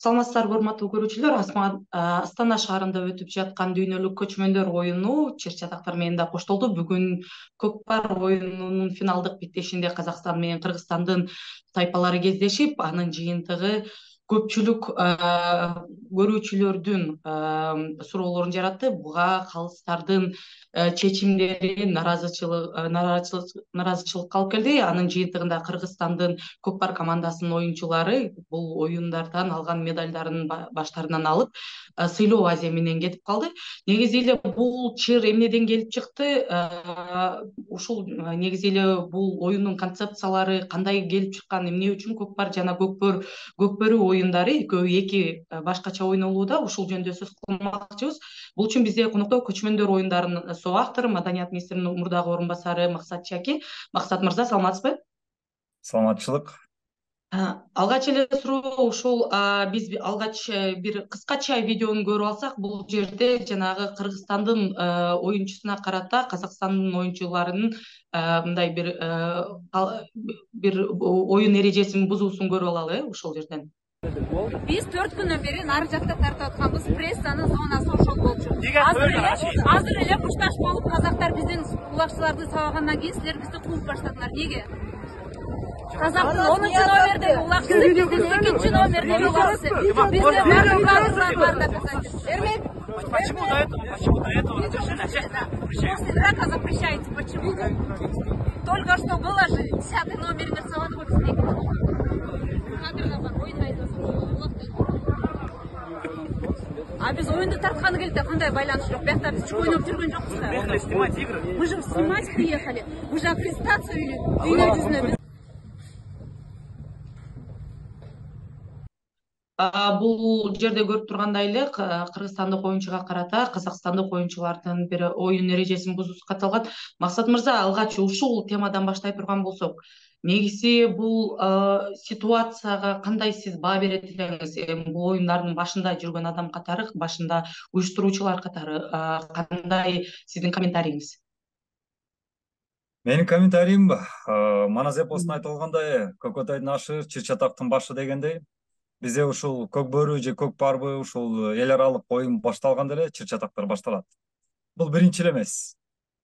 Саламатсыздарбы, урматтуу көрүүчүлөр. Астана шаарында өтүп жаткан дүйнөлүк көчмөндөр оюну чыр-чатактар менен да коштолду. Бүгүн көкпар оюнунун финалдык беттешинде Казакстан менен Кыргызстандын тайпалары кездешип, анын жыйынтыгы көпчүлүк көрүүчүлөрдүн суроолорун жаратты. Буга калыстардын чечимдери нараазычылыкка алып келди. Анын жыйынтыгында Кыргызстандын көкпар командасынын оюнчулары бул оюндардан алган медалдарын баштарынан алып, сыйлоо азия менен кетип калды. Негизи эле бул чыр эмнеден келип чыкты? Ушул негизи эле бул оюндун концепциялары кандай келип чыккан, эмне үчүн көкпар жана көкбөрү оюндары экөө эки башкача ойнолууда, ушул жөнүндө сөз кылмакчыбыз. Бул үчүн бизде конокто көчмөндөр оюндарынын соавтору, маданият министринин мурдагы орун басары Максат Чаки. Максат мырза, саламатсызбы? Саламатчылык. Алгач эле суроо ушул, биз алгач бир кыскача видеону көрүп алсак, бул жерде жанагы Кыргызстандын оюнчусуна карата Казакстандын оюнчуларынын мындай бир оюн эрежесин бузуусун көрүп алалы, ушул жерден. Биз 4 күндөн бери нары жакта тартып атканбыз, прессанын зонасы ошол болчу. Азыр эле мушташ болуп казактар биздин кулакчыларды сабагандан кийин силер бизди кууп баштадыңар. Неге? Казактын 10-чу номердеги улакчысы, биздин 8-чи номердеги улакчысы. Бизде баардыгы бар деп айтышат. Эрмек, почему до этого как запрещаете? Почему? Только что было же 10-й номер нарисован в книге. А биз оюнду тартканы келди да кандай байланыш жок. Биякта биз ойноп жүргөн жокпуз да. Приехали снимать игры. Мы же снимать приехали. Мы же аккредитацию или дүйнө жүзүнө. Бул жерде көрүп тургандай эле кыргызстандык оюнчуга карата казакстандык оюнчулардын бир оюн эрежесин бузуусу катталган. Максат мырза, алгач ушул темадан баштай турган болсок, негизи бул ситуацияга кандай сиз баа берет элеңиз? Бул оюндардын башында жүргөн адам катары, башында уюштуруучулар катары кандай сиздин комментарийиңиз? Менин комментариим манас эпосунда айтылгандай, көкөтайдын ашы чыр-чатактын башы дегендей, бизде ушул көкбөрү же көкпарбы ушул эл аралык оюн башталганда эле чыр-чатактар башталат. Бул биринчи эле эмес.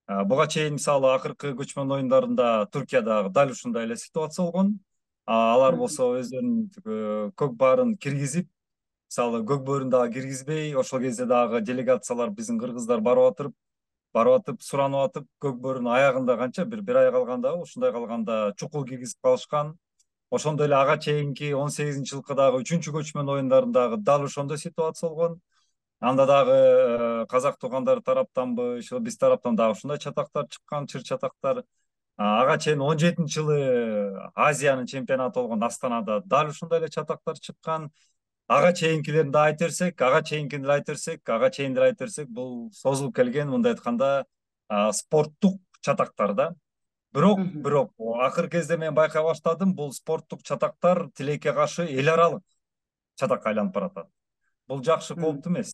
Буга чейин мисалы акыркы көчмөн оюндарында Туркияда дал ушундай эле ситуация болгон. Алар болсо өздөрүнүн көкпарын киргизип, мисалы көкбөрүн дагы киргизбей, ошол кезде дагы делегациялар биздин кыргыздар барып атып, суранып атып, көкбөрүнүн аягында канча бир ай калганда, ушундай калганда чукул киргизип калышкан. Ошондой эле ага чейинки 18-жылкы дагы 3-чү көчмөн оюндардагы дал ошондой ситуация болгон. Анда дагы казак туугандар тараптанбы, биз тараптан дагы ушундай чатактар чыккан, чыр-чатактар. Ага чейин 17-жылы Азиянын чемпионаты болгон Астанада дал ушундай эле чатактар чыккан. Ага чейинкилерин да айта берсек, ага чейин деле айта берсек, бул созулуп келген, мындай айтканда, спорттук чатактар да. Бирок акыркы кезде мен байкай баштадым, бул спорттук чатактар тилекке каршы эл аралык чатакка айланып баратат. Бул жакшы, кооптуу эмес.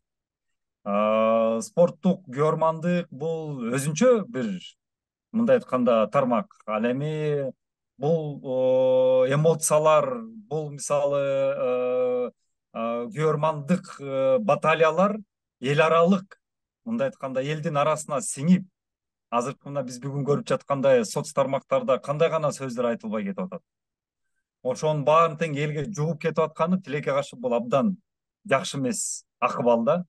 Спорттук күйөрмандык бул өзүнчө бир мындай айтканда тармак. Ал эми бул эмоциялар, бул мисалы күйөрмандык баталиялар эл аралык, мындай айтканда элдин арасына сиңип, азыркы мына биз бүгүн көрүп жаткандай соц тармактарда кандай гана сөздөр айтылбай кетип атат. Ошонун баарын тең элге жугуп кетип атканы тилекке каршы бул абдан жакшы эмес акыбал да.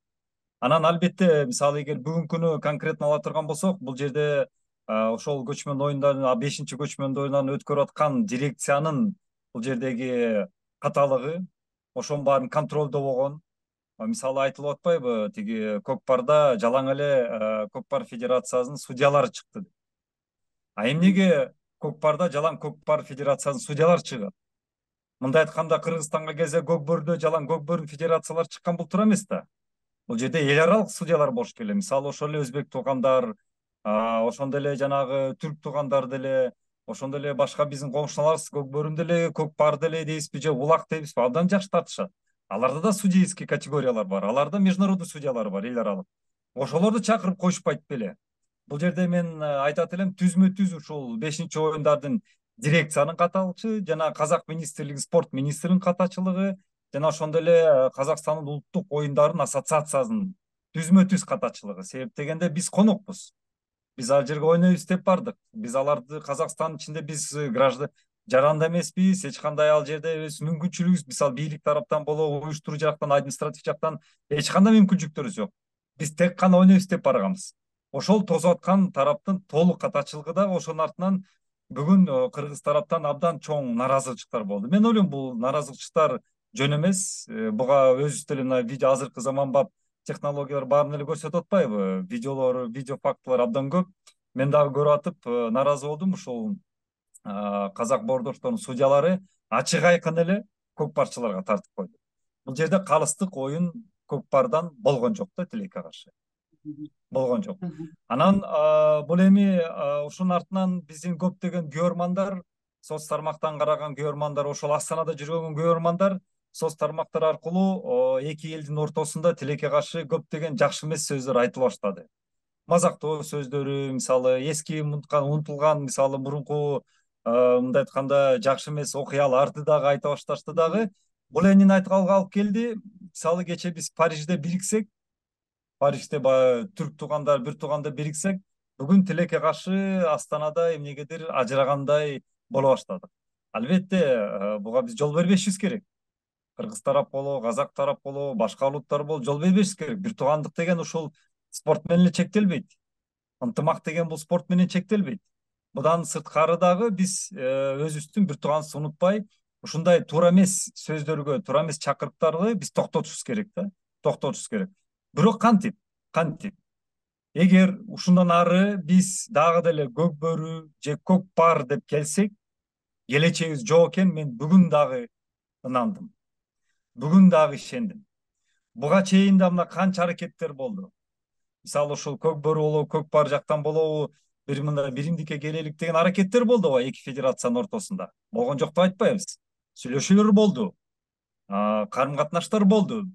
Анан албетте, мисалы эгер бүгүнкү күнү конкретно ала турган болсок, бул жерде ошол көчмөн оюндарын, 5-чи көчмөн оюндарын өткөрүп аткан дирекциянын бул жердеги каталыгы, ошонун баарын контролдо болгон. Мисалы айтылып атпайбы, тиги көкпарда жалаң эле көкпар федерациясынын судьялары чыкты. Эмнеге көкпарда жалаң көкпар федерациясынын судьялары чыгат? Мындай айтканда, Кыргызстанга келсе көкбөрдө жалаң көкбөрүн федерациялар чыккан бул туура эмес да. Бул жерде эл аралык судьялар болуш керек. Мисалы ошол эле өзбек туугандар, ошондой эле жанагы түрк туугандар деле, ошондой эле башка биздин коңшуларыбыз көкбөрүн деле, көкпар деле дейбизби же улак дейбизби, абдан жакшы тартышат. Аларда да судейский категориялар бар, аларда международный судьялар бар, эл аралык. Ошолорду чакырып коюшпайт беле. Бул жерде мен айтат элем, түзмө-түз ушул 5-чи оюндардын дирекциянын каталыгы жана казак министрлиги, спорт министринин катачылыгы жана ошондой эле Казакстандын улуттук оюндарынын ассоциациясынын түзмө-түз катачылыгы. Себеп дегенде биз конокпуз. Биз ал жерге ойнойбуз деп бардык. Биз аларды Казакстандын ичинде биз граждан жаранда эмеспиз, эч кандай ал жерде өз мүмкүнчүлүгүбүз, мисалы бийлик тараптан болобу, уюштуруу жактан, административ жактан эч кандай мүмкүнчүлүктөрүбүз жок. Биз тек гана ойнойбуз деп барганбыз. Ошол тосуп аткан тараптын толук катачылыгы дагы ошонун артынан бүгүн кыргыз тараптан абдан чоң нааразычылыктар болду. Мен ойлойм бул нааразычылыктар жөн эмес. Буга өзүбүз деле мына видео азыркы заманбап технологиялар баарын эле көрсөтүп атпайбы? Видеолор, видео фактылар абдан көп. Мен дагы көрүп атып нааразы болдум. Ушул казак боордошторунун судьялары ачык айкын эле көкпарчыларга тартып койду. Бул жерде калыстык оюн көкпардан болгон жок да, тилекке каршы. Болгон жок. Анан бул эми ушунун артынан биздин көптөгөн көрөрмандар, соц тармактан караган көрөрмандар, ошол Астанада жүргөн көрөрмандар соц тармактар аркылуу эки элдин ортосунда тилекке каршы көптөгөн жакшы эмес сөздөр айтыла баштады. Мазактоо сөздөрү, мисалы эски унутулган, мисалы мурунку мындай айтканда жакшы эмес окуяларды дагы айта башташты дагы. Бул эмнени айтканга алып келди? Мисалы кечээ биз Парижде бириксек, Парижде түрк туугандар, бир тууганда бириксек, бүгүн тилекке каршы Астанада эмнегедир ажырагандай боло баштадык. Албетте, буга биз жол бербешибиз керек. Кыргыз тарап болобу, казак тарап болобу, башка улуттар болобу, жол бербешибиз керек. Бир туугандык деген ушул спорт менен эле чектелбейт. Ынтымак деген бул спорт менен чектелбейт. Будан сырткары дагы биз өзүбүздүн бир тууганыбызды унутпай, ушундай туура эмес сөздөргө, туура эмес чакырыктарды биз токтотушубуз керек да, токтотушубуз керек. Бирок кантип? Эгер ушундан ары биз дагы деле көкбөрү же көкпар деп келсек, келечегибиз жок экен, мен бүгүн дагы ынандым. Бүгүн дагы ишендим. Буга чейин да мына канча аракеттер болду. Мисалы ушул көкбөрү болобу, көкпар жактан болобу, бир мындай биримдикке келелик деген аракеттер болду го эки федерациянын ортосунда. Болгон жок деп айтпайбыз. Сүйлөшүүлөр болду. Карым катнаштар болду.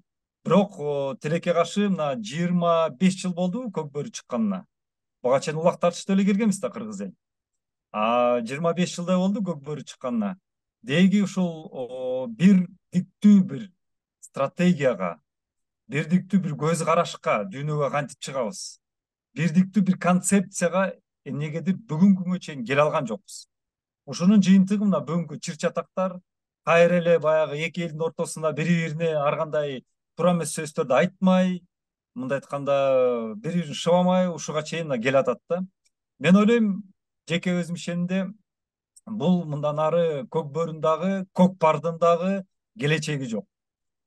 Бирок тилекке каршы мына 25 жыл болду көкбөрү чыкканына. Буга чейин улак тартышты эле келгенбиз да кыргыз эл. 25 жылдай болду көкбөрү чыкканына. Деги ушул бир диктүү бир стратегияга, бирдиктүү бир көз карашка дүйнөгө кантип чыгабыз? Бирдиктүү бир концепцияга эмнегедир бүгүнкү күнгө чейин келе алган жокпуз. Ушунун жыйынтыгы мына бүгүнкү чыр-чатактар, кайра эле баягы эки элдин ортосунда бири-бирине ар кандай туура эмес сөздөрдү айтмай, мындай айтканда бири-бирин шыбамай ушуга чейин келе атат да. Мен ойлойм, жеке өзүм ишенимде, бул мындан ары көкбөрүнүн дагы, көкпардын дагы келечеги жок.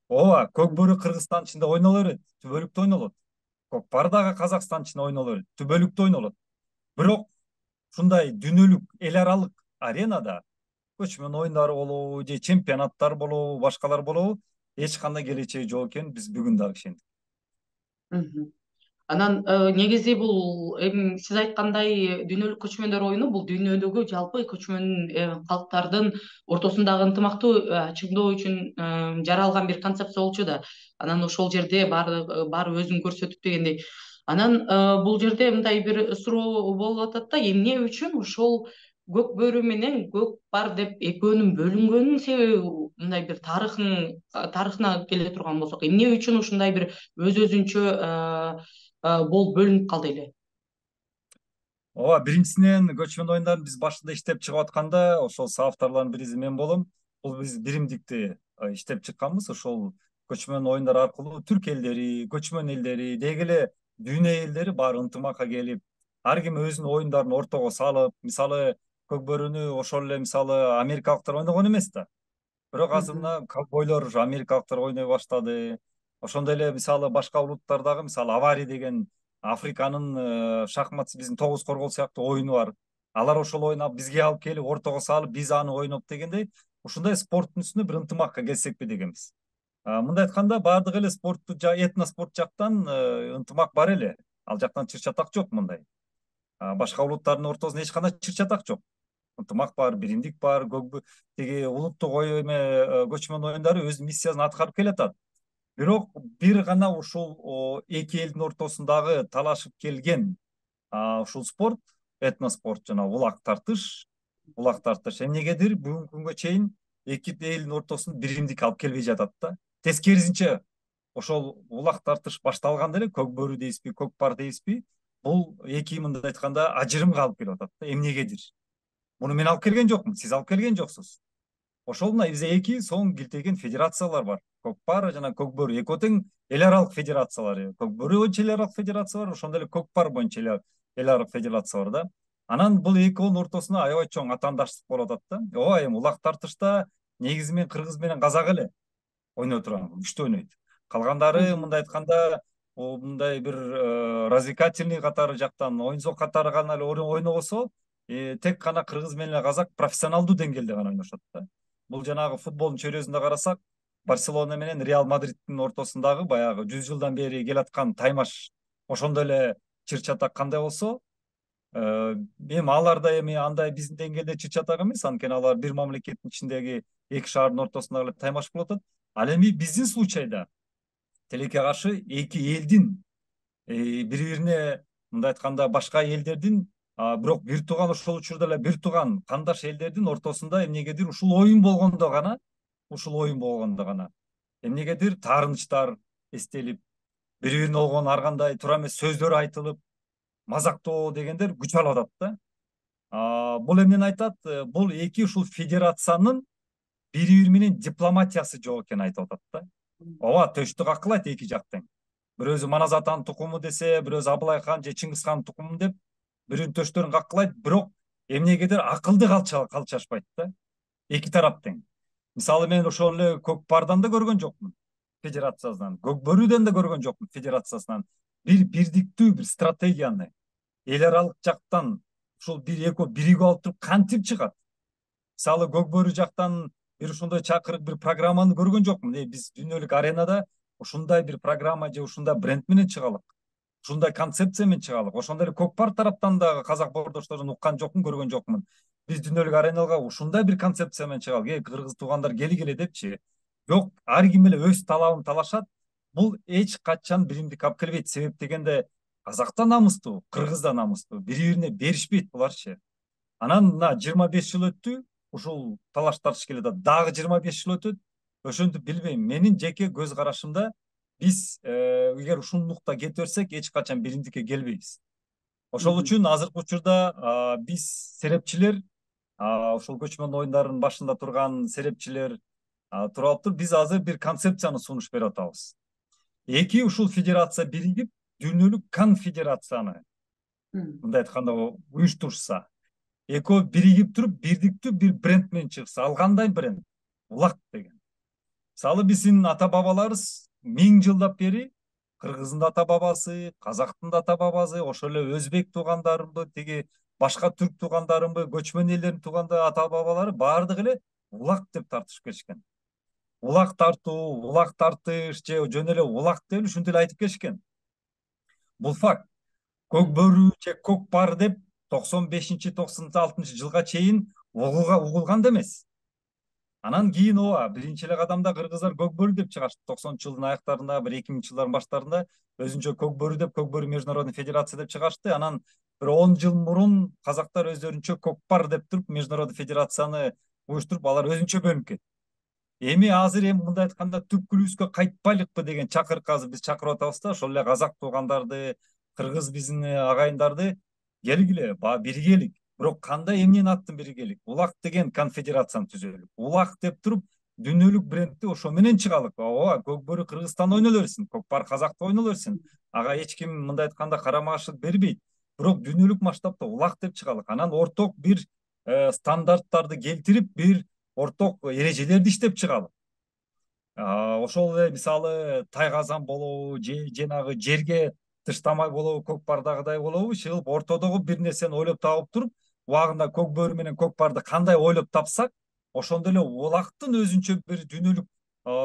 Ооба, көкбөрү Кыргызстандын ичинде ойноло берет, түбөлүктө ойнолот. Көкпар дагы Казакстандын ичинде ойноло берет, түбөлүктө ойнолот. Бирок ушундай дүйнөлүк эл аралык аренада көчмөн оюндары болобу же чемпионаттар болобу, башкалар болобу, эч кандай келечеги жок экенин биз бүгүн дагы ишендик. Анан негизи бул эми сиз айткандай дүйнөлүк көчмөндөр оюну бул дүйнөдөгү жалпы көчмөн калктардын ортосундагы ынтымакты чыңдоо үчүн жаралган бир концепция болчу да. Анан ошол жерде баары өзүн көрсөтүп дегендей. Анан бул жерде мындай бир суроо болуп атат да, эмне үчүн ошол көкбөрү менен көкпар деп экөөнүн бөлүнгөнүнүн себеби мындай бир тарыхына келе турган болсок, эмне үчүн ушундай бир өзүнчө болуп бөлүнүп калды эле? Ооба, биринчисинен көчмөн оюндарын биз башында иштеп чыгып атканда, ошол соавторлордун бириси мен болом. Бул биз биримдикти иштеп чыкканбыз. Ошол көчмөн оюндар аркылуу түрк элдери, көчмөн элдери, деги эле дүйнө элдери баары ынтымакка келип, ар ким өзүнүн оюндарын ортого салып, мисалы көкбөрүнү ошол эле мисалы америкалыктар ойногон эмес да. Бирок азыр мына ковбойлор америкалыктар ойной баштады. Ошондой эле мисалы башка улуттардагы мисалы Авари деген Африканын шахмат биздин тогуз коргол сыяктуу оюну бар. Алар ошол оюну бизге алып келип, ортого салып, биз аны ойноп дегендей, ушундай спорттун үстүнө бир ынтымакка келсекпи дегенбиз. Мындай айтканда баардык эле спортту этноспорт жактан ынтымак бар эле. Ал жактан чыр-чатак жок мындай. Башка улуттардын ортосунда эч кандай чыр-чатак жок. Ынтымак бар, биримдик бар, тиги улуттук көчмөн оюндары өз миссиясын аткарып келатат. Бирок бир гана ушул эки элдин ортосундагы талашып келген ушул спорт, этноспорт жана улак тартыш эмнегедир бүгүнкү күнгө чейин эки элдин ортосуна биримдик алып келбей жатат да. Тескерисинче ошол улак тартыш башталганда эле көк бөрү дейбизби, көк пар дейбизби, бул эки мындай айтканда ажырымга алып келип атат да. Эмнегедир. Муну мен алып келген жокмун, сиз алып келген жоксуз. Ошол мына бизде эки соң килтеген федерациялар бар. Көк пар жана көк бөрү экөө тең эл аралык федерациялар. Көк бөрү боюнча эл аралык федерация бар, ошондой эле көк пар боюнча эл аралык федерация бар да. Анан бул экөөнүн ортосуна аябай чоң атаандаштык болуп атат да. Ооба, эми улак тартышта негизи мен кыргыз менен казак эле ойной турган, күчтүү ойнойт. Калгандары мындай айтканда мындай бир развлекательный катары жактан, оюн катары гана эле ойнобосо, тек гана кыргыз менен казак профессионалдуу деңгээлде гана ойношот да. Бул жанагы футболдун чөйрөсүндө карасак, Барселона менен Реал Мадридтин ортосундагы баягы 100 жылдан бери келаткан таймаш ошондой эле чыр-чатак кандай болсо, эми алар да эми андай биздин деңгээлде чыр-чатак эмес, анткени алар бир мамлекеттин ичиндеги эки шаардын ортосунда эле таймаш болуп атат. Ал эми биздин случайда тилекке каршы эки элдин бири-бирине мындай айтканда башка элдердин, бирок бир тууган, ошол учурда эле бир тууган кандаш элдердин ортосунда эмнегедир ушул оюн болгондо гана эмнегедир таарынычтар эстелип, бири-бирине болгон ар кандай туура эмес сөздөр айтылып, мазактоо дегендер күч алып атат да. Бул эмнени айтат? Бул эки ушул федерациянын бири-бири менен дипломатиясы жок экенин айтып атат да. Ооба, төштү какылайт эки жак тең. Бирөөсү Манас атанын тукуму десе, бирөөсү Абылай хан же Чыңгыз хандын тукуму деп бирөөнүн төштөрүн какылайт, бирок эмнегедир акылды калчашпайт да. Эки тарап тең. Мисалы мен ошол эле көк пардан да көргөн жокмун федерациясынан, көк бөрүдөн да көргөн жокмун федерациясынан бир бирдиктүү бир стратегияны эл аралык жактан ушул бир экөө биригип алып туруп кантип чыгат. Мисалы көк бөрү жактан бир ушундай чакырык бир программаны көргөн жокмун. Биз дүйнөлүк аренада ушундай бир программа же ушундай бренд менен чыгалык, ушундай концепция менен чыгалык. Ошондой эле көк пар тараптан дагы казак боордошторун уккан жокмун, көргөн жокмун. Биз дүйнөлүк аренага ушундай бир концепция менен чыгалык. Кыргыз туугандар келгиле депчи. Жок, ар ким эле өз талабын талашат. Бул эч качан биримдик алып келбейт. Себеп дегенде казак да намыстуу, кыргыз да намыстуу. Бири-бирине беришпейт буларчы. Анан мына 25 жыл өттү, ушул талаш тартыш келатат. Дагы 25 жыл өтөт. Ошентип билбейм. Менин жеке көз карашымда биз эгер ушундукта кете берсек, эч качан биримдикке келбейбиз. Ошол үчүн азыркы учурда биз серепчилер, ошол көчмөн оюндарынын башында турган серепчилер туруп алыптыр. Биз азыр бир концепцияны сунуш берип атабыз. Эки ушул федерация биригип, дүйнөлүк конфедерацияны мындай айтканда уюштурса, экөө биригип туруп бирдиктүү бир бренд менен чыкса, ал кандай бренд? Улак деген. Мисалы биздин ата бабаларыбыз 1000 жылдап бери кыргыздын да ата бабасы, казактын да ата бабасы, ошол эле өзбек туугандарымбы, тиги башка түрк туугандарымбы, көчмөн элдердин туугандары, ата бабалары баардыгы эле улак деп тартышып келишкен. Улак тартуу, улак тартыш же жөн эле улак деп ушинтип эле айтып келишкен. Бул факт. Көк бөрү же көк пар деп 95-96 жылга чейин угулган да эмес. Анан кийин ооба биринчи эле кадамда кыргыздар көк бөрү деп чыгышты. 90-жылдын аяктарында, бир 2000-жылдардын баштарында өзүнчө көк бөрү деп, көк бөрү международный федерация деп чыгышты. Анан бир 10 жыл мурун казактар өздөрүнчө көк пар деп туруп, международный федерацияны уюштуруп, алар өзүнчө бөлүнүп кетти. Эми азыр мындай айтканда түпкүлүбүзгө кайтпайлыкпы деген чакырык азыр биз чакырып атабыз да. Ошол эле казак туугандарды, кыргыз биздин агайындарды келгиле, биригелик. Бирок кандай эмнени аттын биригелик? Улак деген конфедерацияны түзөлүк. Улак деп туруп дүйнөлүк брендти ошо менен чыгалык. Ооба, көк бөрү Кыргызстанда ойнола берсин, көк пар Казакта ойнола берсин. Ага эч ким мындай айтканда карама-каршылык бербейт. Бирок дүйнөлүк масштабта улак деп чыгалык. Анан орток бир стандарттарды келтирип, бир орток эрежелерди иштеп чыгалык. Ошол эле мисалы тайгазан болобу, же жанагы жерге тыштамай болобу, көк пардагыдай болобу, чыгып ортодогу бир нерсени ойлоп таап туруп, убагында көк бөрү менен көк парды кандай ойлоп тапсак, ошондой эле улактын өзүнчө бир дүйнөлүк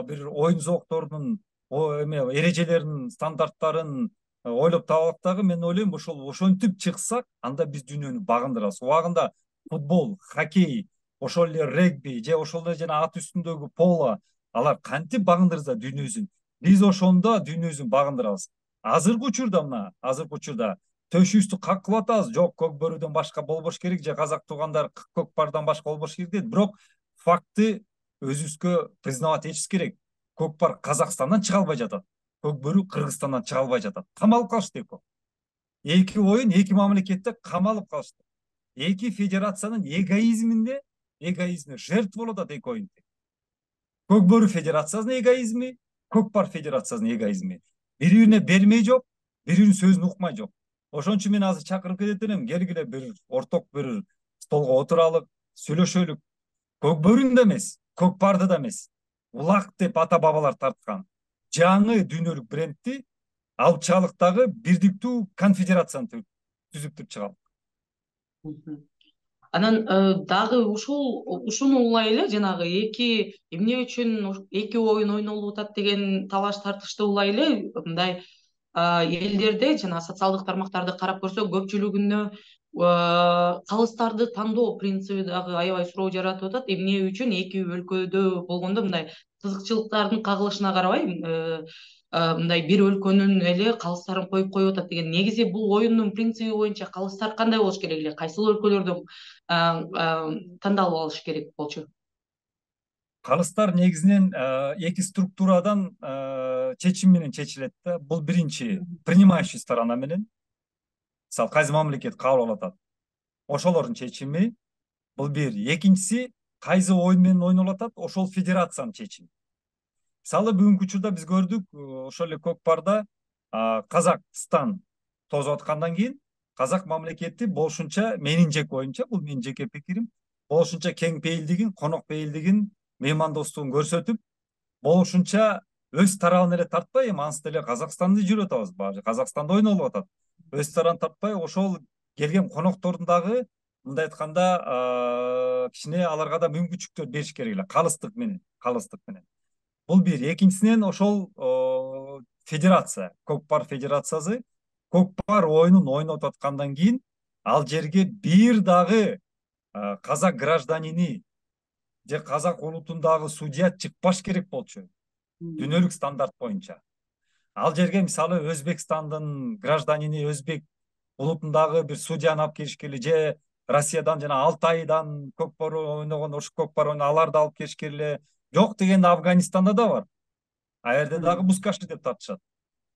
бир оюн зоокторунун эрежелерин, стандарттарын ойлоп таалык дагы. Мен ойлойм, ошентип чыксак, анда биз дүйнөнү багындырабыз. Убагында футбол, хоккей, ошол эле регби же ошол эле жана ат үстүндөгү поло, алар кантип багындырса дүйнөсүн, биз ошондо дүйнөсүн багындырабыз. Азыркы учурда төшүбүздү каккылап атабыз. Жок, көк бөрүдөн башка болбош керек же казак туугандар көк пардан башка болбош керек дейт. Бирок факты өзүбүзгө признавать этишибиз керек. Көкпар Казакстандан чыга албай жатат. Көк бөрү Кыргызстандан чыга албай жатат. Камалып калышты эки. Эки оюн эки мамлекетте камалып калышты. Эки федерациянын эгоизмине жертва болуп атат эки оюн. Көк бөрү федерациясынын эгоизми, Көкпар федерациясынын эгоизми. Бири-бирине бермей жок, бири-биринин сөзүн укмай жок. Ошон үчүн мен азыр чакырып кетет элем, келгиле бир орток бир столго отуралык, сүйлөшөлүк. Көк бөрүн да эмес, Көкпарды да эмес. Улак деп ата бабалар тарткан жаңы дүйнөлүк брендти алып чыгалык дагы бирдиктүү конфедерацияны түзүп туруп чыгалык. Анан дагы ушуну улай эле жанагы эки эмне үчүн эки оюн ойнолуп атат деген талаш тартышты улай эле мындай элдерде жана социалдык тармактарды карап көрсөк көпчүлүгүнө калыстарды тандоо принциби дагы аябай суроо жаратып атат. Эмне үчүн эки өлкөдө болгондо мындай кызыкчылыктардын кагылышына карабай мындай бир өлкөнүн эле калыстарын коюп атат деген. Негизи бул оюндун принциби боюнча калыстар кандай болуш керек эле? Кайсыл өлкөлөрдөн тандалып алыш керек болчу? Калыстар негизинен эки структурадан чечим менен чечилет да. Бул биринчи принимающий сторона менен. Мисалы кайсы мамлекет кабыл алып атат. Ошолордун чечими. Бул бир. Экинчиси кайсы оюн менен ойнолуп атат, ошол федерациянын чечими. Мисалы бүгүнкү учурда биз көрдүк, ошол эле Көкпарда Казакстан тозуп аткандан кийин Казак мамлекети болушунча менин жеке оюмча, бул менин жеке пикирим, болушунча кең пейилдигин, конок пейилдигин, меймандостугун көрсөтүп, болушунча өз тарабын эле тартпай, эми ансыз деле Казакстанды жүрүп атабыз, баары Казакстанда ойнолуп атат. Өз тарабын тартпай, ошол келген коноктордун дагы мындай айтканда кичине аларга да мүмкүнчүлүктөр бериш керек эле, калыстык менен. Бул бир. Экинчисинен ошол федерация, Көкпар федерациясы Көкпар оюнун ойноп аткандан кийин ал жерге бир дагы казак гражданини же казак улутундагы судья чыкпаш керек болчу. Дүйнөлүк стандарт боюнча. Ал жерге мисалы Өзбекстандын гражданини, өзбек улутундагы бир судьяны алып келишкели же Россиядан жана Алтайдан Көкпар ойногон ошо Көкпар ойногон аларды алып келишкели жок дегенде Афганистанда да бар. А жерде дагы бускаши деп тартышат.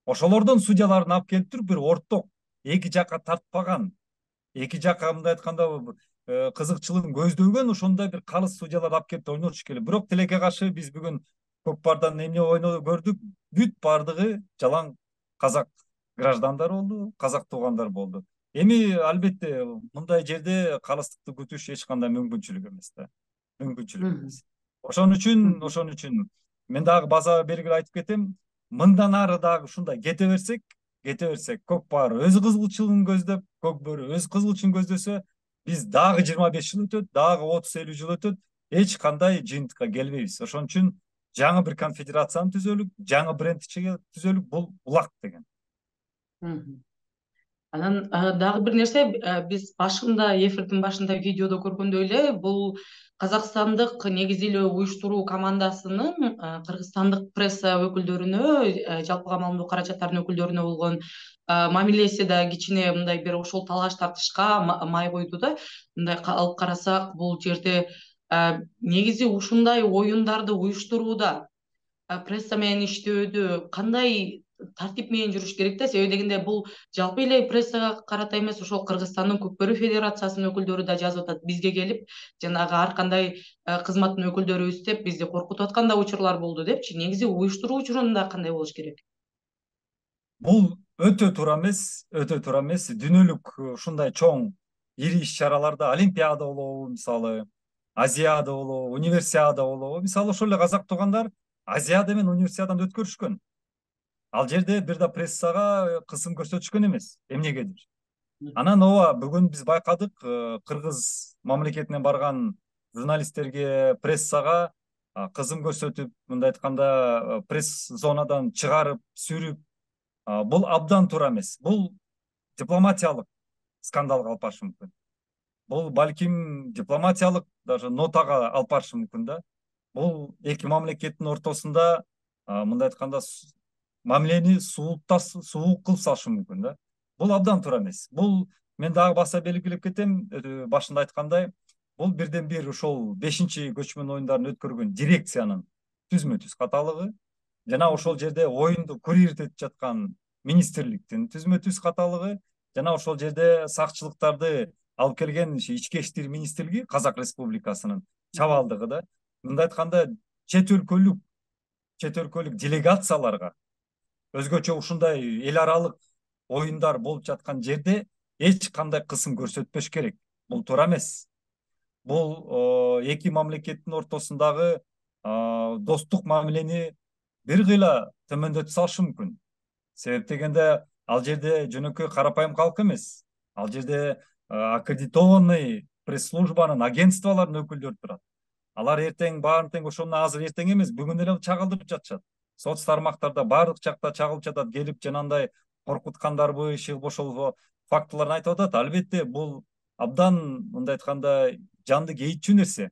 Ошолордон судьяларын алып келип туруп бир орток эки жакка тартпаган, эки жакка мындай айтканда кызыкчылыгын көздөгөн ошондой бир калыс судьяларды алып келип ойнотуш керек. Бирок тилекке каршы биз бүгүн Көкпардан эмне ойноп көрдүк, бүт бардыгы жалаң казак граждандар болду, казак туугандар болду. Эми албетте мындай жерде калыстыкты күтүш эч кандай мүмкүнчүлүк эмес да. Мүмкүнчүлүк эмес. Ошон үчүн мен дагы база бергиле айтып кетем, мындан ары дагы ушундай кете берсек, Көкпар өз кызыкчылыгын көздөп, Көк бөрү өз кызыкчылыгын көздөсө, биз дагы 25 жыл өтөт, дагы 30-50 жыл өтөт, эч кандай жыйынтыкка келбейбиз. Ошон үчүн жаңы бир конфедерацияны түзөлүк, жаңы бренд түзөлүк, бул улак деген. Анан дагы бир нерсе, биз башында эфирдин башында видеодо көргөндөй эле бул казакстандык негизи эле уюштуруу командасынын кыргызстандык пресса өкүлдөрүнө, жалпыга маалымдоо каражаттарынын өкүлдөрүнө болгон мамилеси да кичине мындай бир ошол талаш тартышка май койду да. Мындай алып карасак, бул жерде негизи ушундай оюндарды уюштурууда пресса менен иштөөдө кандай тартип менен жүрүш керек да, себеби дегенде бул жалпы эле прессага карата эмес, ошол Кыргызстандын Көкбөрү федерациясынын өкүлдөрү да жазып атат, бизге келип жанагы ар кандай кызматтын өкүлдөрүбүз деп бизди коркутуп аткан да учурлар болду депчи. Негизи уюштуруу учурунда кандай болуш керек? Бул өтө туура эмес. Дүйнөлүк ушундай чоң ири иш-чараларда Олимпиада болобу, мисалы Азиада болобу, Универсиада болобу, мисалы ошол эле казак туугандар Азиада менен Универсиаданы өткөрүшкөн. Ал жерде бир да прессага кысым көрсөтүшкөн эмес, эмнегедир. Анан ооба, бүгүн биз байкадык, кыргыз мамлекетинен барган журналисттерге, прессага кысым көрсөтүп, мындай айтканда пресс зонадан чыгарып, сүрүп, бул абдан туура эмес. Бул дипломатиялык скандалга алып барышы мүмкүн. Бул балким дипломатиялык даже нотага алып барышы мүмкүн да. Бул эки мамлекеттин ортосунда мындай айтканда мамилени суук кылып салышы мүмкүн да. Бул абдан туура эмес. Бул мен дагы баса белгилеп кетем, башында айткандай, бул бирден бир ошол 5 көчмөн оюндарын өткөргөн дирекциянын түзмө түз каталыгы, жана ошол жерде оюнду курировать этип жаткан министрликтин түзмө түз каталыгы, жана ошол жерде сакчылыктарды алып келген ички иштер министрлиги Казак Республикасынын чабалдыгы да. Мындай айтканда чет өлкөлүк делегацияларга өзгөчө ушундай эл аралык оюндар болуп жаткан жерде эч кандай кысым көрсөтпөш керек. Бул туура эмес. Бул эки мамлекеттин ортосундагы достук мамилени бир кыйла төмөндөтө салышы мүмкүн. Себеп дегенде ал жерде жөнөкөй карапайым калк эмес. Ал жерде аккредитованный пресс-службанын, агентстволордун өкүлдөрү турат. Алар эртең баарын тең ошону азыр эртең эмес, бүгүн эле чагылдырып жатышат. Соц тармактарда баардык жакта чагылып жатат. Келип жанагындай коркуткандарбы, иши ошол фактыларды айтып атат. Албетте бул абдан мындай айтканда жанды кейитчү нерсе.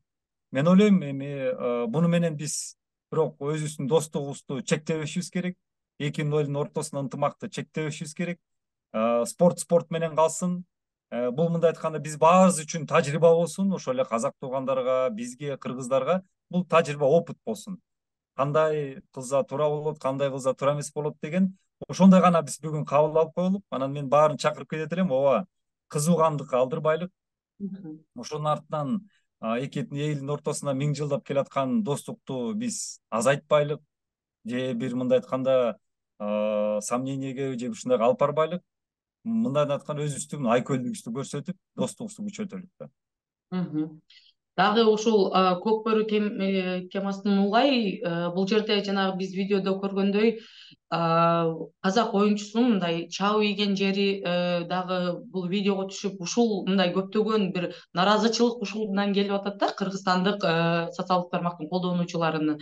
Мен ойлойм эми буну менен биз бирок өзүбүздүн достугубузду чектебешибиз керек. Эки элдин ортосунда ынтымакты чектебешибиз керек. Спорт менен калсын. Бул мындай айтканда биз баарыбыз үчүн тажрыйба болсун, ошол эле казак туугандарга, бизге, кыргыздарга бул тажрыйба, опыт болсун. Кандай кылса туура болот, кандай кылса туура эмес болот деген ошондой гана биз бүгүн кабыл алып коелук. Анан мен баарын чакырып кетет элем. Ооба, кызуугандыкка алдырбайлык. Ошонун артынан эки элдин ортосунда миң жылдап келаткан достукту биз азайтпайлык же бир мындай айтканда сомнениеге же ушундайга алып барбайлык. Мындай айтканда өзүбүздүн айкөлдүгүбүздү көрсөтүп, достугубузду күчөтөлүк да. Дагы ушул көк бөрү темасынан улай, бул жерде жанагы биз видеодо көргөндөй казак оюнчусунун мындай чабып ийген жери дагы бул видеого түшүп, ушул мындай көптөгөн бир нааразычылык ушундан келип атат да, кыргызстандык социалдык тармактын колдонуучуларынын.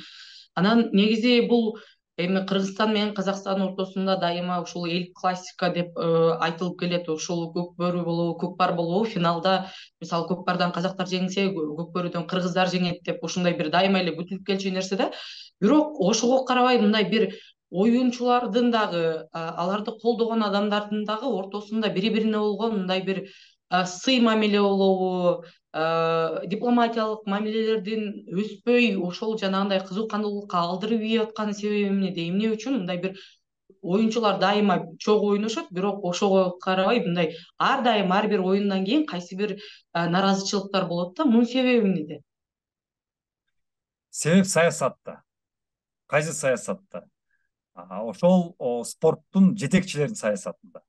Анан негизи бул эми Кыргызстан менен Казакстан ортосунда дайыма ушул эл классика деп айтылып келет. Ушул көк бөрү болобу, көкпар болобу, финалда мисалы көкпардан казактар жеңсе, көк бөрүдөн кыргыздар жеңет деп ушундай бир дайыма эле күтүлүп келчү нерсе да. Бирок ошого карабай мындай бир оюнчулардын дагы, аларды колдогон адамдардын дагы ортосунда бири-бирине болгон мындай бир сый мамиле болобу, дипломатиялык мамилелердин өспөй, ошол жанагындай кызукандуулукка алдырып ийип аткан себеби эмнеде? Эмне үчүн мындай бир оюнчулар дайыма чогуу ойношот, бирок ошого карабай мындай ар дайым ар бир оюндан кийин кайсы бир нааразычылыктар болот да. Мунун себеби эмнеде? Себеп саясатта. Кайсы саясатта? Ошол спорттун жетекчилеринин саясатында.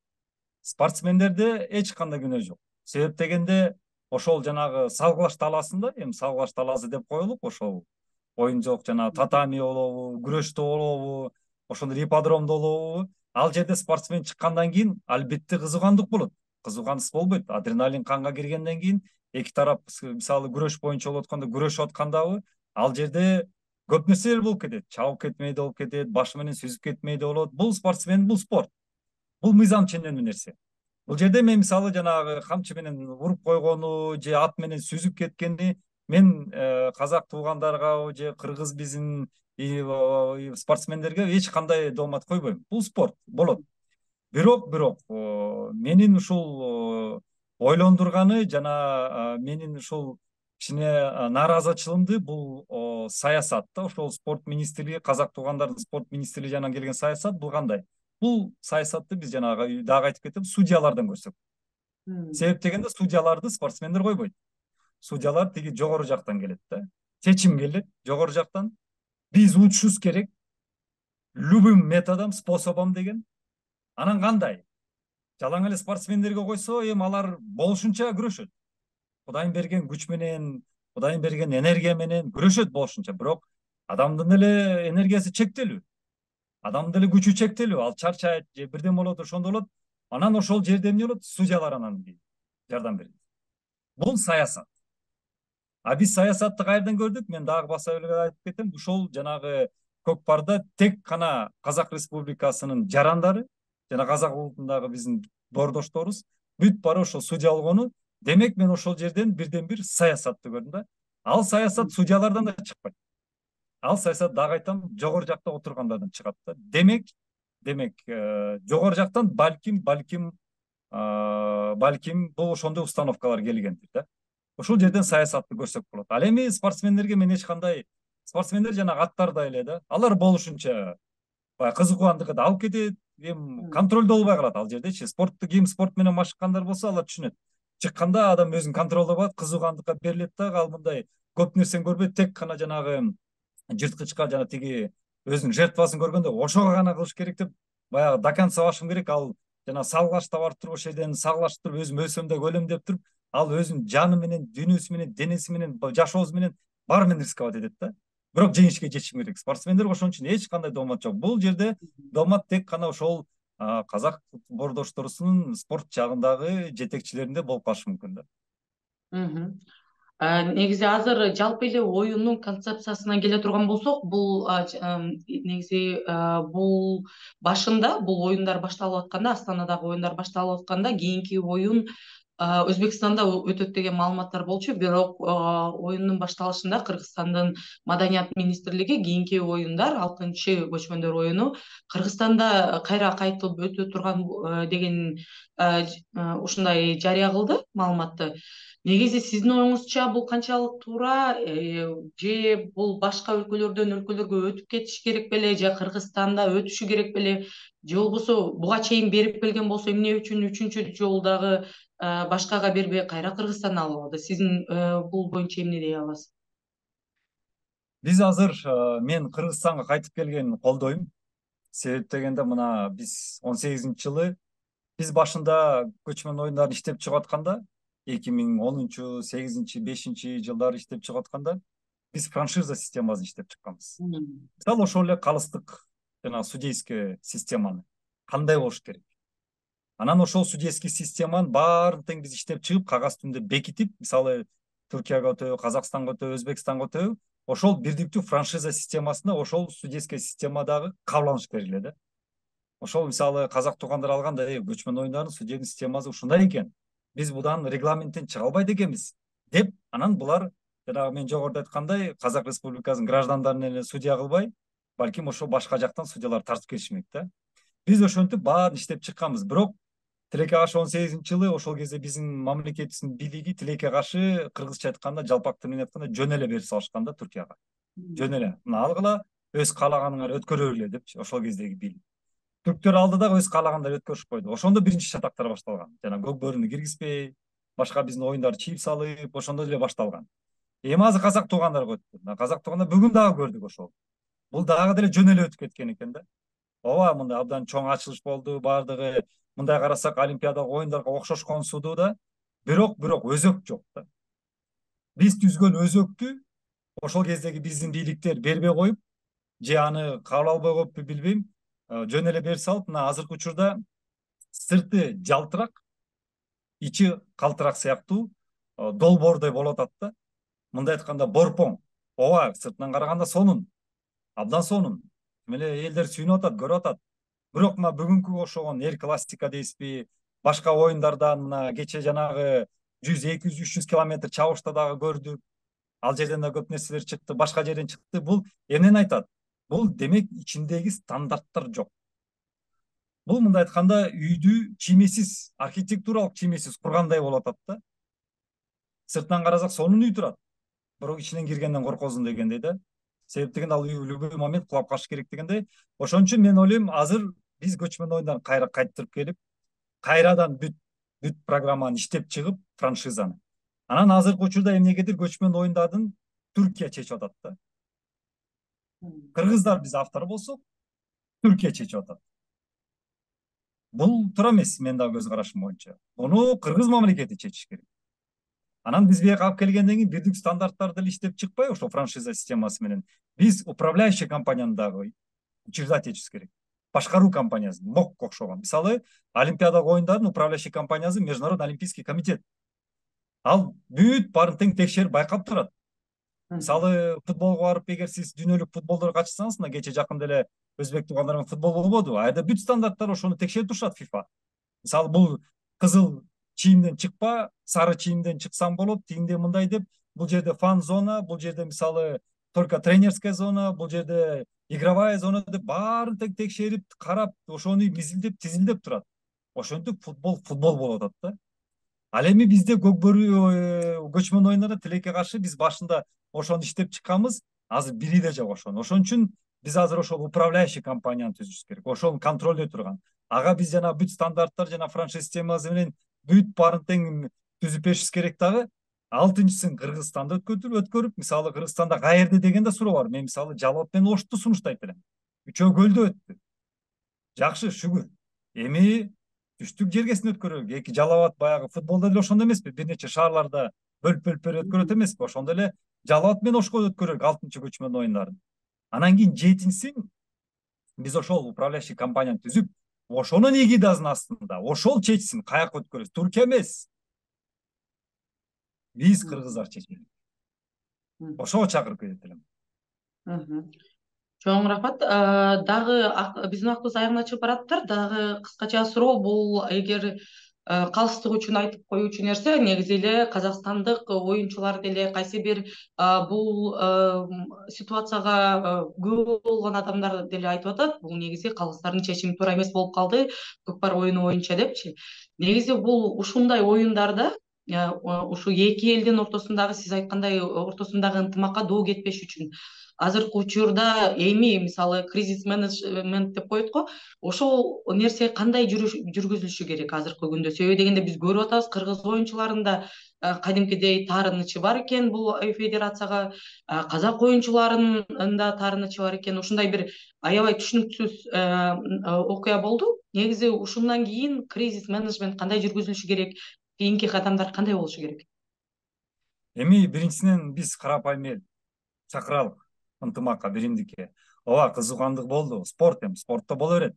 Спортсмендерде эч кандай күнөө жок. Себеп дегенде ошол жанагы салгылаш талаасында, эми салгылаш талаасы деп коелук, ошол оюн жок, жанагы татами болобу, күрөштө болобу, ошондой ипподромдо болобу, ал жерде спортсмен чыккандан кийин албетте кызыгандык болот. Кызыгансыз болбойт. Адреналин канга киргенден кийин эки тарап мисалы күрөш боюнча болуп атканда, күрөшүп аткандабы, ал жерде көп нерселер болуп кетет. Чабып кетмей да болуп кетет, башы менен сүзүп кетмей да болот. Бул спортсмен, бул спорт. Бул мыйзам ченемдүү нерсе. Бул жерде мен мисалы жанагы камчы менен уруп койгону же ат менен сүзүп кеткени мен казак туугандарга же кыргыз биздин спортсмендерге эч кандай доомат койбойм. Бул спорт болот. Бирок менин ушул ойлондурганы жана менин ушул кичине нааразычылыгымды бул саясат да, ошол спорт министрлиги, казак туугандардын спорт министрлиги жанынан келген саясат бул кандай? Бул саясатты биз жанагы дагы айтып кетем, судьялардан көрсөк. Себеп дегенде судьяларды спортсмендер койбойт. Судьялар тиги жогору жактан келет да. Чечим келет жогору жактан. Биз учушубуз керек. Любым методом, способом деген. Анан кандай? Жалаң эле спортсмендерге койсо, эми алар болушунча күрөшөт. Кудайын берген күч менен, Кудайын берген энергия менен күрөшөт болушунча. Бирок адамдын эле энергиясы чектелүү. Адамдын эле күчү чектелүү. Ал чарчайт же бирден болот, ошондо болот. Анан ошол жерде эмне болот? Судьялар анан жардам берет. Бул саясат. Биз саясатты кайерден көрдүк? Мен дагы баса эле айтып кетем. Ушол жанагы көкпарда тек гана Казак Республикасынын жарандары жана казак улутундагы биздин боордошторубуз бүт баары ошол судья болгону. Демек мен ошол жерден бирден бир саясатты көрдүм да. Ал саясат судьялардан да чыкпайт. Ал саясат дагы айтам, жогору жакта отургандардан чыгат да. Демек жогору жактан балким бул ошондой установкалар келгендир да. ошол жерден саясатты көрсөк болот. Ал эми спортсмендерге мен эч кандай, спортсмендер жана аттардай эле да, алар болушунча баягы кызыккандыкты алып кетет, эми контролдо болбой калат ал жердечи. Спортту ким спорт менен машыккандар болсо алар түшүнөт. Чыкканда адам өзүн контролдобот, кызыгандыкка берилет да, ал мындай көп нерсени көрбөйт, тек гана жанагы жырткычка жана тиги өзүнүн жертвасын көргөндө ошого гана кылыш керек деп баягы до конца башым керек. Ал жана салгылашта барып туруп ошол жерден сагылашып туруп өзүм өлсөм да өлөм деп туруп, ал өзүнүн жаны менен, дүйнөсү менен, денеси менен, жашоосу менен баары менен рисковать этет да. Бирок жеңишке жетишим керек. Спортсмендер ошон үчүн эч кандай доомат жок. Бул жерде доомат тек гана ошол казак боордошторусунун спорт жагындагы жетекчилеринде болуп калышы мүмкүн да. Негизи азыр жалпы эле оюндун концепциясына келе турган болсок, бул негизи бул башында бул оюндар башталып атканда, Астанадагы оюндар башталып атканда кийинки оюн Өзбекстанда өтөт деген маалыматтар болчу. Бирок оюндун башталышында Кыргызстандын Маданият министрлиги кийинки оюндар 6-чы көчмөндөр оюну Кыргызстанда кайра кайтып өтө турган деген ушундай жарыя кылды маалыматты. Негизи сиздин оюңузча бул канчалык туура, же бул башка өлкөлөрдөн өлкөлөргө өтүп кетиш керек беле, же Кыргызстанда өтүшү керек беле, же болбосо буга чейин берип келген болсо эмне үчүн 3-чү жолу дагы башкага бербей кайра Кыргызстандан алып алды? Сиздин бул боюнча эмне дей аласыз? Биз азыр мен Кыргызстанга кайтып келгенин колдойм. Себеп дегенде мына биз 18-жылы биз башында көчмөн оюндарын иштеп чыгып атканда 2010, 8, 5 жылдары иштеп чыгып атканда биз франшиза системасын иштеп чыкканбыз. Мисалы ошол эле калыстык жана судейский системаны кандай болуш керек. Анан ошол судейский системанын баарын тең биз иштеп чыгып, кагаз түндө бекитип, мисалы Түркияга өтөбү, Казакстанга өтөбү, Өзбекстанга өтөбү, ошол бирдиктүү франшиза системасына ошол судейский системадагы кабыл алыш керек эле да. Ошол мисалы казак туугандар алганда, көчмөн оюндардын судебный системасы ушундай экен. Биз будан регламенттен чыга албайт экенбиз деп, анан булар жанагы мен жогоруда айткандай Казак Республикасынын граждандарын эле судья кылбай, балким ошо башка жактан судьялар тартып келишмек да. Биз ошентип баарын иштеп чыкканбыз. Бирок Тилекке каршы 18-жылы ошол кезде биздин мамлекетибиздин бийлиги Тилекке каршы кыргызча айтканда, жалпак тил менен айтканда жөн эле берип салышкан да Түркияга. Жөн эле. Мына алгыла, өз каалаганыңар өткөрө бергиле депчи, ошол кездеги бийлик. Түрктөр алды дагы өз каалагандар өткөрүшүп койду. Ошондо биринчи шатактар башталган. Жана көк бөрүнү киргизбей, башка биздин оюндарды чийип салып, ошондо эле башталган. Эми азыр казак туугандарга өттү. Казак туугандар бүгүн дагы көрдүк ошол. Бул дагы деле жөн эле өтүп кеткен экен да. Ооба, мындай абдан чоң ачылыш болду, баардыгы мындай карасак олимпиадалык оюндарга окшошкон суду да, бирок өзөк жок да. Биз түзгөн өзөктү ошол кездеги биздин бийликтер бербей коюп, же аны кабыл албай коюпту билбейм, жөн эле берип салып, мына азыркы учурда сырты жалтырак, ичи калтырак сыяктуу долбоордой болуп атат да. Мындай айтканда борпоң. Ооба, сыртынан караганда сонун, абдан сонун. Эле элдер сүйүнүп атат, көрүп атат. Бирок мына бүгүнкү ошогон эр классика дейсизби, башка оюндардан мына кече жанагы 100, 200, 300 километр чабышта дагы көрдүк. Ал жерден да көп нерселер чыкты, башка жерден чыкты. Бул эмнени айтат? Бул демек ичиндеги стандарттар жок. Бул мындай айтканда үйдү чиймесиз, архитектуралык чиймесиз кургандай болуп атат да. Сыртынан карасак сонун үй турат, бирок ичинен киргенден коркосуң дегендей да. Себеп дегенде ал үй любой момент кулап калыш керек дегендей. Ошон үчүн мен ойлойм, азыр биз көчмөн оюндарын кайра кайттырып келип, кайрадан бүт программаны иштеп чыгып, франшизаны. Анан азыркы учурда эмнегедир көчмөн оюндардын Түркия чечип атат да. Кыргыздар биз автор болсок, Түркия чечип атат. Бул туура эмес, мен дагы көз карашым боюнча. Буну кыргыз мамлекети чечиш керек. Анан биз бияка алып келгенден кийин бирдик стандарттарды иштеп чыкпай, ошо франшиза системасы менен биз управляющий компанияны дагы учреждать этишибиз керек. Башкаруу компаниясы, МОК окшогон. Мисалы, олимпиадалык оюндардын управляющий компаниясы Международный олимпийский комитет. Ал бүт баарын тең текшерип байкап турат. Мисалы, футболго барып, эгер сиз дүйнөлүк футболдорго катышсаңыз, мына кече жакында эле өзбек туугандар менен футбол болбоду. Айда бүт стандарттар ошону текшерип турушат FIFA. Мисалы, бул кызыл чийимден чыкпа, сары чийимден чыксаң болот, тигинде мындай деп, бул жерде фан зона, бул жерде мисалы только тренерская зона, бул жерде игровая зона деп баарын тең текшерип, карап, ошону мизилдеп, тизилдеп турат. Ошентип футбол болуп атат да. Ал эми бизде көчмөн оюндарда тилекке каршы биз башында ошону иштеп чыкканбыз, азыр бири да жок ошону. Ошон үчүн биз азыр ошол управляющий компанияны түзүшүбүз керек. Ошону контролдой турган. Ага биз жана бүт стандарттар жана франшиз системасы менен бүт баарын тең түзүп беришибиз керек дагы. Алтынчысын Кыргызстанда өткөрүп, мисалы Кыргызстанда каерде деген да суроо бар. Мен мисалы Жалал абад менен Ошту сунуштайт элем. Үчөө көлдө өттү. Жакшы, шүгүр. Эми түштүк жергесин өткөрөлүк. Эки Жалал Абад баягы футболдо деле ошондой эмеспи? Бир нече шаарларда бөлүп берип өткөрөт эмеспи? Ошондой эле Жалал Абад менен Ошко өткөрөлүк алтынчы көчмөн оюндарын. Анан кийин жетинчисин биз ошол управляющий компанияны түзүп, ошонун эгидасынын астында ошол чечсин, каяка өткөрөбүз. Туркия эмес. Биз кыргыздар чечели. Ошого чакырып кетет элем. Чоң рахмат. Дагы биздин убактыбыз аягына чыгып баратыптыр. Дагы кыскача суроо, бул эгер калыстык үчүн айтып коюучу нерсе, негизи эле казакстандык оюнчулар деле кайсы бир бул ситуацияга күбө болгон адамдар деле айтып атат, бул негизи калыстардын чечими туура эмес болуп калды көкпар оюну боюнча депчи. Негизи бул ушундай оюндарда ушу эки элдин ортосундагы, сиз айткандай, ортосундагы ынтымакка доо кетпеш үчүн азыркы учурда эми мисалы кризис менеджмент деп коет го, ошол нерсе кандай жүргүзүлүшү керек азыркы күндө? Себеби дегенде биз көрүп атабыз, кыргыз оюнчуларында кадимкидей таарынычы бар экен бул федерацияга, казак оюнчуларынын да таарынычы бар экен. Ушундай бир аябай түшүнүксүз окуя болду. Негизи ушундан кийин кризис менеджмент кандай жүргүзүлүшү керек? Кийинки кадамдар кандай болушу керек? Эми биринчисинен биз карапайым эл чакыралык ынтымакка, биримдикке. Ооба, кызыгандык болду. Спорт эми, спортто боло берет.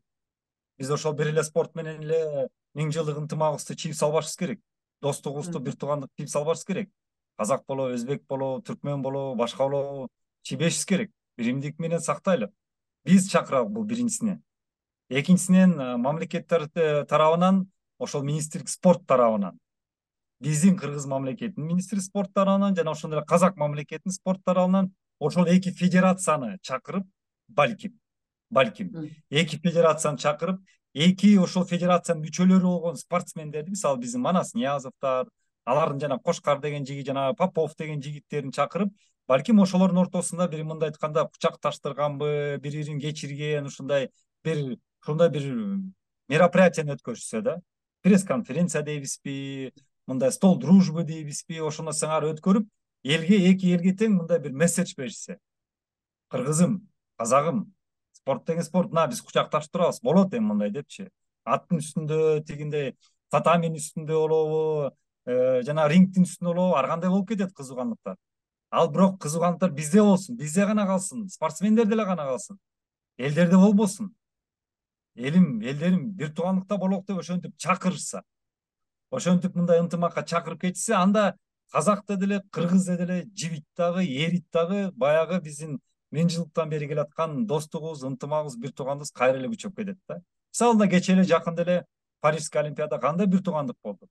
Биз ошол бир эле спорт менен эле 1000 жылдык ынтымагыбызды чийип салбашыбыз керек. Достугубузду, бир туугандыкты чийип салбашыбыз керек. Казак болобу, өзбек болобу, түркмөн болобу, башка болобу чийбешибиз керек. Биримдик менен сактайлы. Биз чакыралык бул биринчисинен. Экинчисинен мамлекеттер тарабынан, ошол министрлик спорт тарабынан, биздин Кыргыз мамлекетинин министри спорт тарабынан жана ошондой эле Казак мамлекетинин спорт тарабынан ошол эки федерацияны чакырып, балким эки федерацияны чакырып, эки ошол федерациянын мүчөлөрү болгон спортсмендерди, мисалы биздин Манас Ниязовдор, алардын жана Кошкар деген жигит, жана Попов деген жигиттерин чакырып, балким ошолордун ортосунда бир мындай айтканда кучакташтырганбы, бири-бирин кечирген ушундай бир мероприятияны өткөрүшсө да, пресс-конференция дейбизби, мындай стол дружбы дейбизби, ошону сыңар өткөрүп, эки элге тең мындай бир месседж беришсе. Кыргызым, казагым, спорт деген спорт, биз кучакташып турабыз, болот эми мындай депчи. Аттын үстүндө тигиндей, татаминин үстүндө болобу, жана рингдин үстүндө болобу, ар кандай болуп кетет кызыгандыктар. Ал бирок кызыгандыктар бизде болсун, бизде гана калсын, спортсмендер деле гана калсын. Элдерде болбосун. Элдерим бир туугандыкта болок деп ошентип чакырышса, ошентип мындай ынтымакка чакырып кетишсе, анда казакта деле, кыргызда деле жибит дагы, эрит дагы баягы биздин 1000 жылдыктан бери келаткан достугубуз, ынтымагыбыз, бир туугандыгыбыз кайра эле күчөп кетет да. Мисалы кечээ эле жакында эле Парижский олимпиада кандай бир туугандык болду.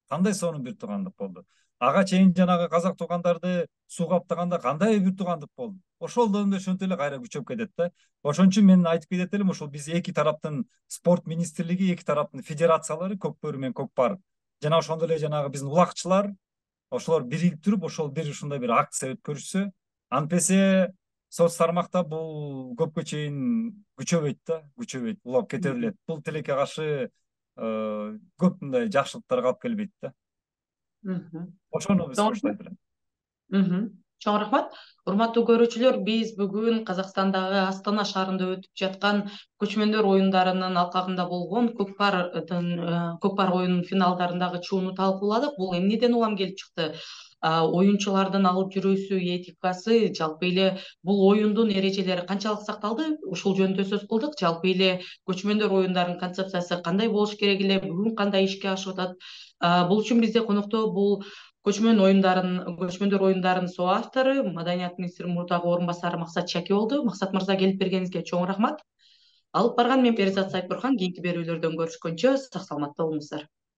Кандай сонун бир туугандык болду. Ага чейин жанагы казак туугандарды суу каптаганда кандай бир туугандык болду. Ошол да ошентип эле кайра күчөп кетет да. Ошон үчүн мен айтып кетет элем, ошол биз эки тараптын спорт министрлиги, эки тараптын федерациялары, Көк бөрү менен Көк бар, жана ошондой эле жанагы биздин улакчылар, ошолор биригип туруп, ошол бир ушундай бир акция өткөрүшсө, антпесе соц тармакта бул көпкө чейин күчөбөйт, улап кете берет. Бул тилекке каршы көп мындай жакшылыктарга алып келбейт да. Ошону биз коштойт элем. Чоң рахмат. Урматтуу көрүүчүлөр, биз бүгүн Казакстандагы Астана шаарында өтүп жаткан көчмөндөр оюндарынын алкагында болгон көкпар оюнунун финалдарындагы чууну талкууладык. Бул эмнеден улам келип чыкты? Оюнчулардын алып жүрүүсү, этикасы, жалпы эле бул оюндун эрежелери канчалык сакталды? Ушул жөнүндө сөз кылдык. Жалпы эле көчмөндөр оюндарынын концепциясы кандай болуш керек эле, бүгүн кандай ишке ашып атат? Бул үчүн бизде конокто бул көчмөндөр оюндарынын соавтору, маданият министри мурдагы орун басары Максат Чаки болду. Максат мырза, келип бергениңизге чоң рахмат. Алып барган мен Перизат Сайпурхан. Кийинки берүүлөрдөн көрүшкөнчө сак саламатта болуңуздар.